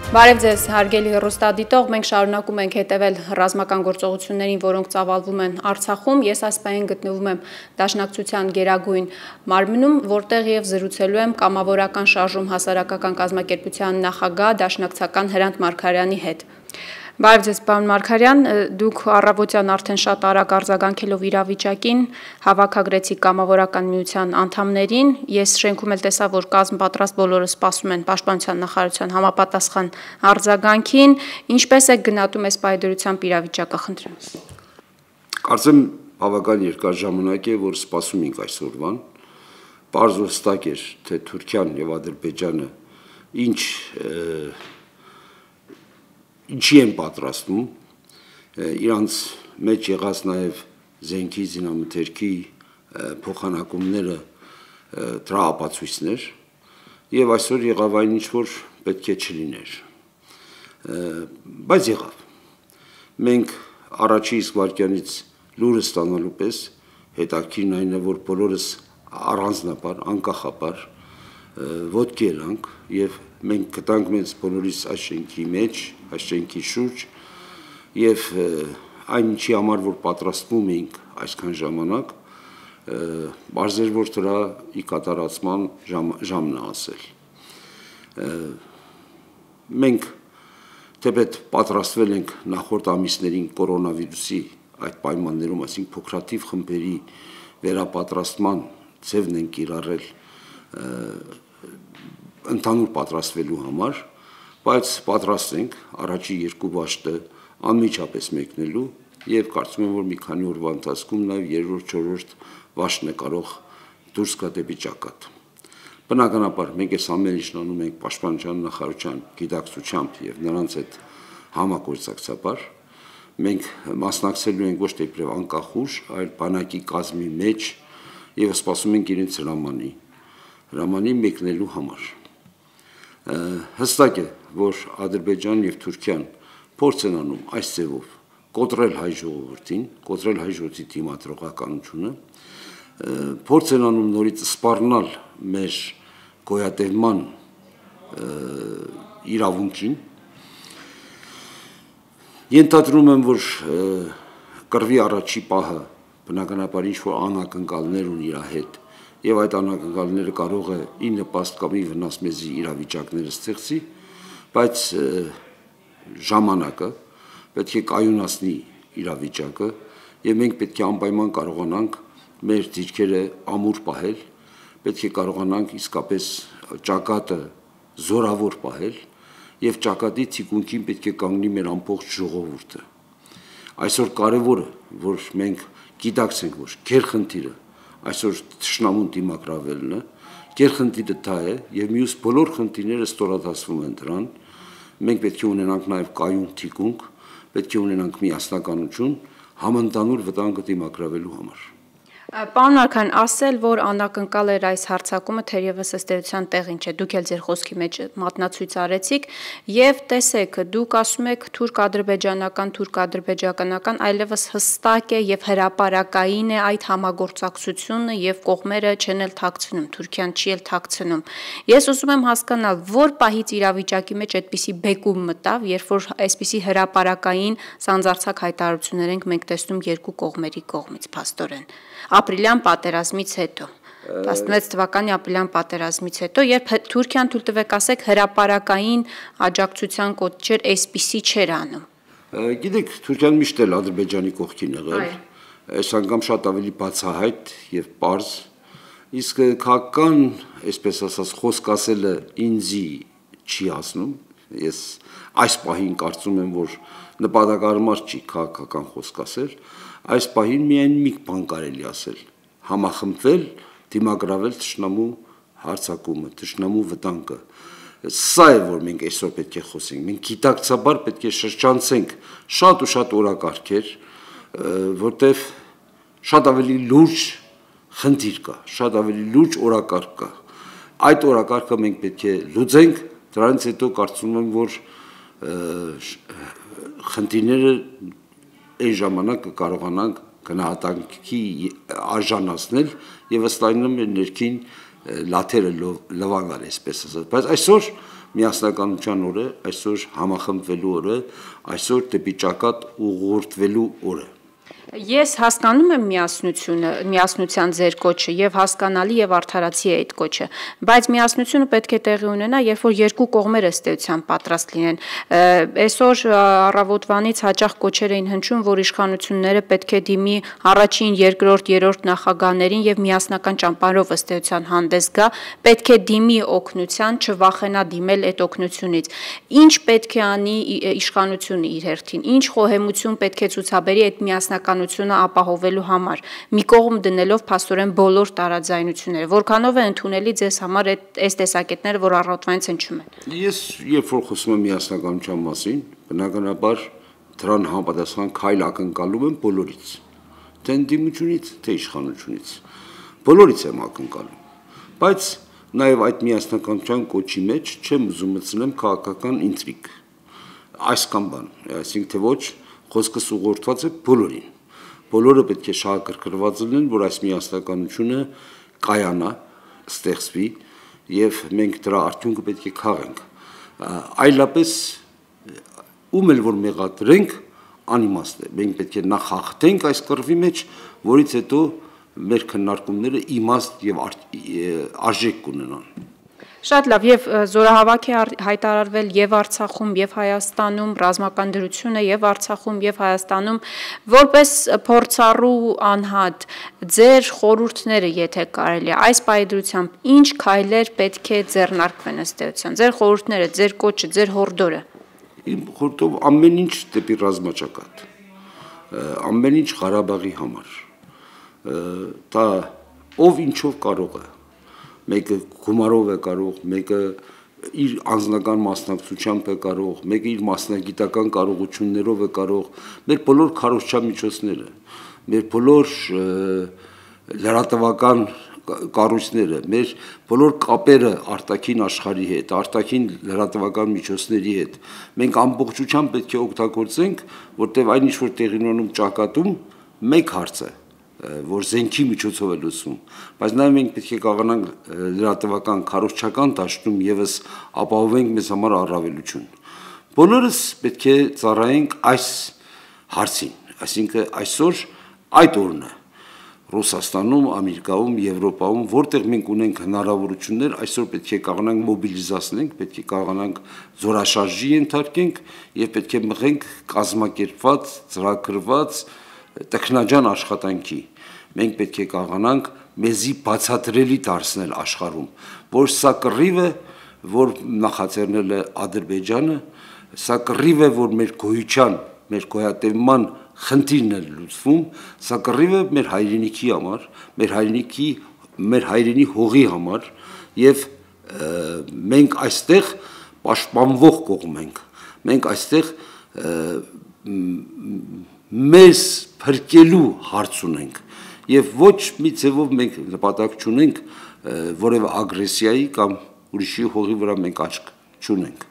Բարև ձեզ, հարգելի հեռուստադիտող, մենք շարունակում ենք հետևել ռազմական գործողություններին, որոնք ծավալվում են Արցախում։ Ես այս պահին գտնվում եմ Դաշնակցության Գերագույն մարմնում, որտեղ եւ զրուցելու եմ կամավորական շարժում հասարակական կազմակերպության նախագահ Դաշնակցական Հրանտ Մարգարյանի հետ։ Բարև ձեզ, պարոն Մարգարյան, դուք առավոտյան արդեն շատ արագ արձագանքելով իրավիճակին հավաքագրեցիք կամավորական միության անդամներին։ Ես շենքում էլ տեսա, որ կազմ պատրաստ բոլորը սպասում են Պաշտպանության նախարարության համապատասխան արձագանքին։ Ինչպես է գնահատում այս պայդրությամբ իրավիճակը, խնդրեմ։ Կարծեմ բավական երկար ժամանակ է, որ սպասում ենք այսօրվան։ Պարզ ու հստակ էր, թե Թուրքիան եւ Ադրբեջանը ինչի են պատրաստում, իրանց մեջ եղած նաև զենքի, զինամթերքի փոխանակումները դրա ապացույցներ եւ այսօր եղավ այն ինչ որ պետք է չլիներ, բայց եղավ։ Մենք առաջի իսկ վայրկյանից լուրը ստանալու պես հետաքրքիրն այն է, որ բոլորս առանձնապար, անկախապար ոտքի երանք եւ մենք գտանք մեզ բոլորիս այս շենքի մեջ, այս շենքի շուրջ եւ այն ինչի համար որ պատրաստվում էինք այսքան ժամանակ, բարձր էր որ դրա ի կատարածման ժամն է ասել։ Մենք թեպետ պատրաստվել ենք նախորդ ամիսներին կորոնավիրուսի այդ պայմաններում, այսինքն փոքրաթիվ խմբերի վերապատրաստման ձևն են կիրառել ընդհանուր պատրաստվելու համար, բայց պատրաստ ենք առաջի երկու վաշտը անմիջապես մեկնելու եւ կարծում եմ, որ մի քանի օրվա ընթացքում նաեւ երրորդ, չորրորդ վաշտն է կարող դուրս գա դեպի ճակատ։ Բնականաբար մենք այս ամեն ինչն անում ենք Պաշտպանության նախարարության գիտակցությամբ եւ նրանց հետ համագործակցաբար։ Մենք մասնակցելու ենք ոչ թե իբրև անկախ ուժ, այլ բանակի կազմի մեջ եւ սպասում ենք իրենց հրամանի մեկնելու համար։ Հստակ է, որ Ադրբեջանն եւ Թուրքիան փորձ են անում այս ձևով կոտրել հայ ժողովրդին, կոտրել հայ ժողովրդի դիմադրողականությունը, փորձ են անում նորից սպառնալ մեր գոյատևման իրավունքին։ Ենթադրում եմ, որ կռվի առաջի պահը բնականաբար ինչ որ անակնկալներ ունի իր հետ եւ այդ անակնկալները կարող է ի նպաստ կամ ի վնաս մեզի իրավիճակները ստեղծի, բայց ժամանակը պետք է կայունացնի իրավիճակը եւ մենք պետք է անպայման կարողանանք մեր դիրքերը ամուր պահել, պետք է կարողանանք իսկապես ճակատը զորավոր պահել եւ ճակատի թիկունքին պետք է կանգնի մեր ամբողջ ժողովուրդը։ Այսօր կարևորը, որ մենք գիտակցենք, որ գերխնդիրը այսօր թշնամուն դիմակրավելն է, գերխնդիրը դա է եւ մյուս բոլոր խնդիրները ստորադասվում են դրան։ Մենք պետք է ունենանք նաեւ կայուն թիկունք, պետք է ունենանք միասնականություն համընդհանուր վտանգը դիմակրավելու համար։ Պարոն Մարգարյան, ասել, որ անակնկալ էր այս հարձակումը, թերևս ըստ էության տեղին չէ։ Դուք էլ ձեր խոսքի մեջ մատնացույց արեցիք եւ տեսեք, դուք ասում եք թուրք-ադրբեջանական, այլևս հստակ է եւ հրապարակային է այդ համագործակցությունը եւ կողմերը չեն էլ թաքցնում, Թուրքիան չի էլ թաքցնում։ Ես ուզում եմ հասկանալ, որ պահից իրավիճակի մեջ այդպիսի բեկում մտավ, երբ որ այսպիսի հրապարակային սանձարձակ հայտարարություններ ենք մենք տեսնում երկու կողմերի կողմից, փաստորեն։ Ապրիլյան պատերազմից հետո 16 թվականի ապրիլյան պատերազմից հետո, երբ Թուրքիան թույլ տվեք ասեք հրապարակային աջակցության կոչեր այսպիսի չէր անում։ Գիտեք, Թուրքիան միշտ էլ Ադրբեջանի կողքին եղել, այս անգամ շատ ավելի բացահայտ եւ պարզ, իսկ քաղաքական, այսպես ասած, խոսք ասելը ինձի չի ասնում, ես այս պահին կարծում եմ, որ նպատակարար չի քաղաքական խոսք ասել, այս պահին միայն մի բան կարելի ասել, համախմբվել, դիմագրավել թշնամու հարձակումը, թշնամու վտանգը։ Սա է, որ մենք այսօր պետք է խոսենք, մենք գիտակցաբար պետք է շրջանցենք շատ ու շատ օրակարգեր, որտեղ շատ ավելի լուրջ խնդիր կա, շատ ավելի լուրջ օրակարգ կա։ Այդ օրակարգը մենք պետք է լուծենք, դրանից հետո կարծում եմ, որ խնդիրները այն ժամանակ կարողանանք գնահատանքի արժանացնել եւ ըստ այնու մեր ներքին լաթերը լվանալ, այսպես ասած, բայց այսօր միասնականության օրը, այսօր համախմբվելու օրը, այսօր դեպի ճակատ ուղղորդվելու օրը։ Ես հասկանում եմ միասնության ձեր կոչը եւ հասկանալի եւ արդարացի է այդ կոչը, բայց միասնությունը պետք է տեղի ունենա, երբ որ երկու կողմերը ըստ էության պատրաստ լինեն։ Այսօր առավոտվանից հաճախ կոչեր էին հնչում, որ իշխանությունները պետք է դիմի առաջին, երկրորդ, երրորդ նախագահներին եւ միասնական ճամբարով ըստ էության հանդես գա, պետք է դիմի օգնության, չվախենա դիմել այդ օգնությունից։ Ինչ պետք է անի իշխանությունը իր հերթին, ինչ խոհեմություն պետք է ցուցաբերի այդ միասնականությունը ապահովելու համար, մի կողմ դնելով փաստորեն բոլոր տարաձայնությունները, որքանով է ընդունելի ձեզ համար այս տեսակետները, որ առավոտվանից հնչում են։ Ես երբ որ խոսում եմ միասնականության մասին, բնականաբար դրան համապատասխան քայլ ակնկալում եմ բոլորից, թե ընդդիմությունից, թե իշխանությունից, բոլորից եմ ակնկալում, բայց նաև այդ միասնականության կոչի մեջ չեմ ուզում մտցնեմ քաղաքական ինտրիգ, այս կամ բան, այսինքն թե ոչ, խոսքս ուղղորդված է բոլորին, բոլորը պետք է շահագրգռված լինեն, որ այս միասնականությունը կայանա, ստեղծվի եւ մենք դրա արդյունքը պետք է քաղենք, այլապես ում էլ որ մեղադրենք անիմաստ է, մենք պետք է նախ հաղթենք այս կռվի մեջ, որից հետո մեր քննարկումները իմաստ եւ արժեք կունենան։ Շատ լավ, եւ զորահավաք է հայտարարվել եւ Արցախում եւ Հայաստանում, ռազմական դրություն է եւ Արցախում եւ Հայաստանում, որպես փորձառու անհատ, ձեր խորհուրդները, եթե կարելի է, այս պայդրությամբ ինչ քայլեր պետք է ձեռնարկվեն ըստ էության, ձեր խորհուրդները, ձեր կոչը, ձեր հորդորը։ Իմ խորհուրդով ամեն ինչ դեպի ռազմաճակատ, ամեն ինչ Ղարաբաղի համար, դա ով ինչով կարող է, մեկը գումարով է կարող, մեկը իր անձնական մասնակցությամբ է կարող, մեկը իր մասնագիտական կարողություններով է կարող, մեր բոլոր քարոզչամիջոցները, մեր բոլոր լրատվական կառույցները, մեր բոլոր կապերը արտաքին աշխարհի հետ, արտաքին լրատվական միջոցների հետ, մենք ամբողջությամբ պետք է օգտագործենք, որտեղ այն ինչ որ տեղի ունենում ճակատում, մեկ հարց է, որ զենքի միջոցով է լուծվում, բայց նաև մենք պետք է կարողանանք լրատվական քարոզչական դաշտում եւս ապահովենք մեզ համար առավելություն։ Բոլորս պետք է ծառայենք այս հարցին, այսինքն այսօր այդ օրն է Ռուսաստանում, Ամերիկայում, Եվրոպայում, որտեղ մենք ունենք հնարավորություններ, այսօր պետք է կարողանանք մոբիլիզացնենք, պետք է կարողանանք զորաշարժի ենթարկենք եւ պետք է մղենք կազմակերպված, ծրագրված տեխնաջան աշխատանքի։ Մենք պետք է կարողանանք մեզի բացատրելի դարձնել աշխարհում, որ սա կռիվ է, որ նախաձեռնել է Ադրբեջանը, սա կռիվ է, որ մեր գոյության, մեր գոյատևման խնդիրն է լուծվում, սա կռիվ է մեր հայրենիքի համար, մեր հայրենի հողի համար եւ մենք այստեղ պաշտպանվող կողմ ենք, մենք այստեղ մեզ փրկելու հարց ունենք եւ ոչ մի ձևով մենք նպատակ չունենք որևէ ագրեսիայի կամ ուրիշի հողի վրա մենք աչք չունենք։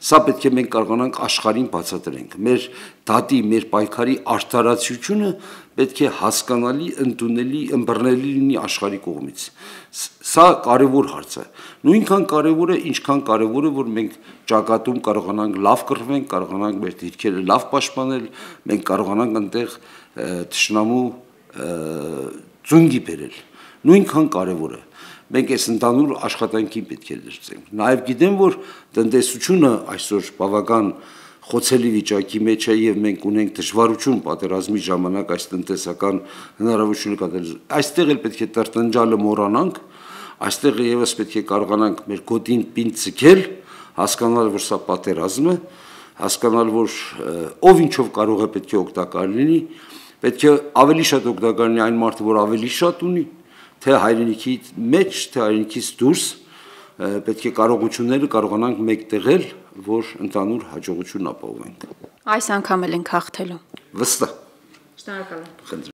Սա պետք է մենք կարողանանք աշխարհին բացատրենք։ Մեր դատի, մեր պայքարի արդարացիությունը պետք է հասկանալի, ընդունելի, ըմբռնելի լինի աշխարհի կողմից։ Սա կարևոր հարց է։ Նույնքան կարևոր է, ինչքան կարևոր է, որ մենք ճակատում կարողանանք լավ կռվենք, կարողանանք մեր դիրքերը լավ պաշտպանել, մենք կարողանանք այնտեղ թշնամու ծունգի բերել։ Նույնքան կարևոր է։ Մենք այս ընդհանուր աշխատանքին պետք է լրացենք։ Նաև գիտեմ, որ տնտեսությունը այսօր բավական խոցելի վիճակի մեջ է եւ մենք ունենք դժվարություն պատերազմի ժամանակ այս տնտեսական հնարավորությունը կատարել։ Այստեղ էլ պետք է տրտնջալը մոռանանք, այստեղ եւս պետք է կարողանանք մեր գոտին պինդ ցկել, հասկանալ, որ սա պատերազմ է, հասկանալ, որ ով ինչով կարող է պետք է օգտակար լինի, պետք է ավելի շատ օգտակար լինի այն մարդը, որ ավելի շատ ունի, թե հայրենիքի մեջ, թե հայրենիքից դուրս պետք է կարողությունները կարողանանք մեկտեղել, որ ընդհանուր հաջողություն ապահովենք։ Այս անգամ էլ ենք հաղթելու։ Վստահ։ Շնորհակալ եմ։